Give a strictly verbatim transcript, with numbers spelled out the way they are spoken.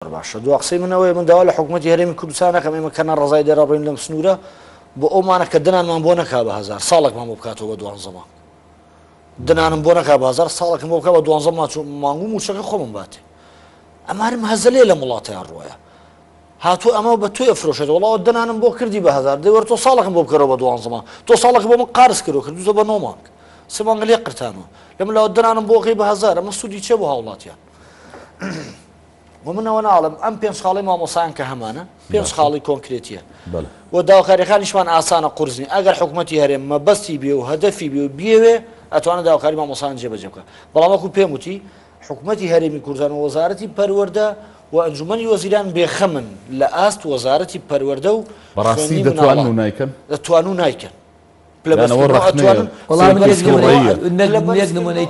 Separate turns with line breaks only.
باشە. دوا قسەی من ئەوەیە، من داوا لە حکوومەتی هەرێمی کوردستان نەکەم ئێمە کە ناڕەزای دەرەڕۆین لەم سنوورە بۆ ئەومانە کە دنانمان بۆ نەکا بە هەزار ساڵێکمان بۆ بکاتەوە بە دوانزە مانگ، دنانم بۆ نەکا بە هەزار ساڵێکم بۆ بکا بە دوانزە مانگ و مووچەکە خۆمم باتێ. ئەمارم هەزەلێ لەم وڵاتەیان ڕۆیە هاتوو ئەمە بە تۆی ئەفرۆشێت، وەڵا دنانم بۆ کردی بە هەزار، دەی وەرە تۆ ساڵێکم بۆ بکەرەوە بە دوانزە مانگ، تۆ ساڵێک بۆ من قارس کردو کردوزە بە نۆ مانگ، سێ مانگ لێ قرتانەوە لەم لاوە دنانم بۆ قەی بە هەزار، ئەمە سوودی چێ بۆ هاوڵاتیان؟ و منەوە ناڵم ئەم پێنج خاڵی مامۆسایان کە هەمانە پێنج خاڵی کۆنکرێتیە و داواکاریەکانیشمان ئاسانە قورس نیە. ئەگەر حکوومەتی هەرێم مەبەستی بێ و هەدەفی بێ و بیەوێ ئەتوانێت داواکاری مامۆسایان جێبەجێ بکە. بەڵام وەکو پێم وتی حکوومەتی هەرێمی کوردستان و وەزارەتی پەروەردە و ئەنجومەنی وەزیران بێخەمن لە ئاست وەزارەتی پەروەردە و
بەڕاستی دەتوانن و نایکەن،
دەتوان و نایکەن.
پلە بەرزکردنەوە ئەتوانن.
وەڵام نمونەی